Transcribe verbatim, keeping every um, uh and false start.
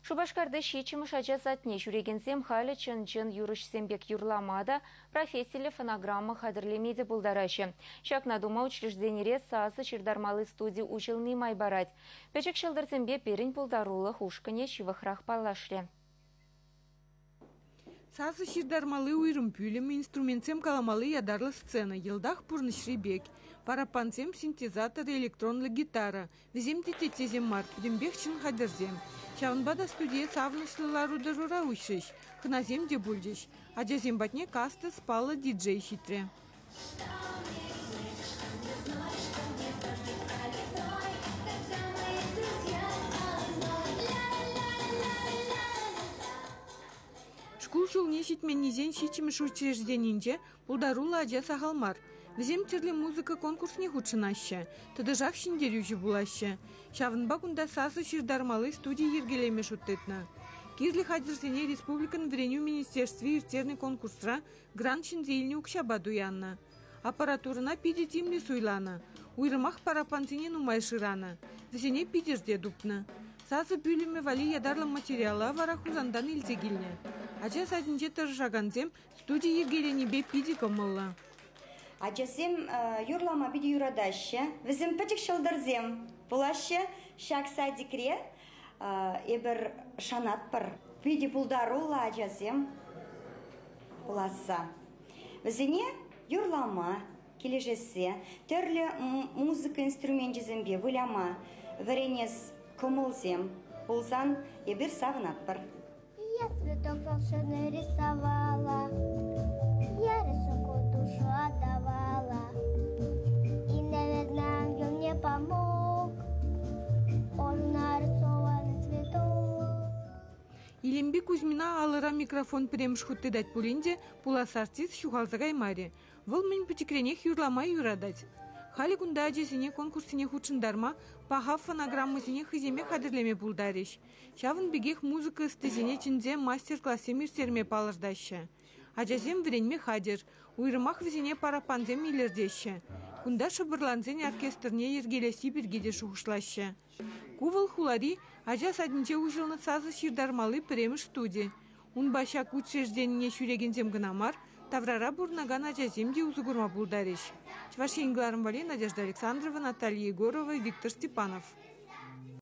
Шупашкарти ҫиччӗмӗш ача садне ҫӳрекенсем халӗ чӑн-чӑн юрӑҫсем пек юрлама та, профессиллӗ фонограмма хатӗрлеме те пултараҫҫӗ. Ҫакна тума учрежденире сасӑ ҫыртармалли студи уҫӑлни май парать. Пӗчӗк ҫӑлтӑрсемпе пирӗн пултарулӑх ушкӑнӗ ҫывӑхрах паллашрӗ. Сасӑ ҫыртармалли уйрӑм пӳлӗм, инструментсем каламалли ятарлӑ сцена йӑлтах пурнӑҫри пек. Параппансем, синтезатор, электронлӑ гитара. Вӗсем те теттесем мар, пӗтӗмпех чӑн хатӗрсем. Ҫавӑнпа та студие савӑнӑҫлӑ лару-тӑрура уҫрӗҫ. Хӑнасем те пулчӗҫ. Ачасем патне Кастас паллӑ диджей ҫитрӗ. Шкул ҫулне ҫитменнисен ҫиччӗмӗш учрежденинче пултаруллӑ ача сахал мар. Вӗсем тӗрлӗ музыка конкурсне хутшӑнаҫҫӗ, тӑтӑшах ҫӗнтерӳҫӗ пулаҫҫӗ. Ҫавӑнпа кунта сасӑ ҫыртармалли студи йӗркелеме шут тытнӑ. Кирлӗ хатӗрсене республикӑн вӗренӳ министерстви ирттернӗ конкурсра грант ҫӗнсе илнӗ укҫапа туяннӑ. Аппаратурӑна питӗ тимлӗ суйланӑ. Уйрӑмах параппансене нумай шыранӑ. Вӗсене Питӗрте тупнӑ. Сасӑ пӳлӗмӗ валли ятарлӑ материала вара Хусантан илсе килнӗ. Ача садӗнче тӑрӑшакансем студи йӗркеленипе питӗ кӑмӑллӑ. Ачасем юрлама питӗ юратаҫҫӗ. Вӗсем пӗчӗк ҫӑлтӑрсем пулаҫҫӗ. Ҫак садикре эпир шанатпӑр. Питӗ пултаруллӑ ачасем пуласса. Вӗсене юрлама килӗшессе, тӗрлӗ музыка инструменчӗсемпе выляма вӗренес кӑмӑлсем пулсан эпир савӑнатпӑр. Я цветок волшебный рисовала, я рисунку душу отдавала. И, наверное, ангел мне помог, он нарисованный цветок. Илемпи Кузьмина алӑра микрофон пӗрремӗш хут тытать пулин те пулас артист ҫухалса каймарӗ. Вӑл мӗн пӗчӗкренех юрлама юратать. Халӗ кунта ачасене конкурссене хутшӑнтарма, паха фонограммӑсене хӑйсемех хатӗрлеме пултарӗҫ. Ҫавӑн пекех музыка ӑстисене чӗнсе мастер-классем ирттерме палӑртаҫҫӗ. Ачасем вӗренме хатӗр. Уйрӑмах вӗсене параппансем илӗртеҫҫӗ. Кунта шӑпӑрлансен оркестрне йӗркелесси пирки те шухӑшлаҫҫӗ. Ку вӑл хулари ача садӗнче уҫӑлнӑ сасӑ ҫыртармалли пӗрремӗш студи. Унпа ҫак учрежденине ҫӳрекенсем кӑна мар, таврара пурӑнакан ачасем те усӑ курма пултарӗҫ. Чӑваш Ен кӑларӑм валли Надежда Александрова, Наталья Егорова, Виктор Степанов.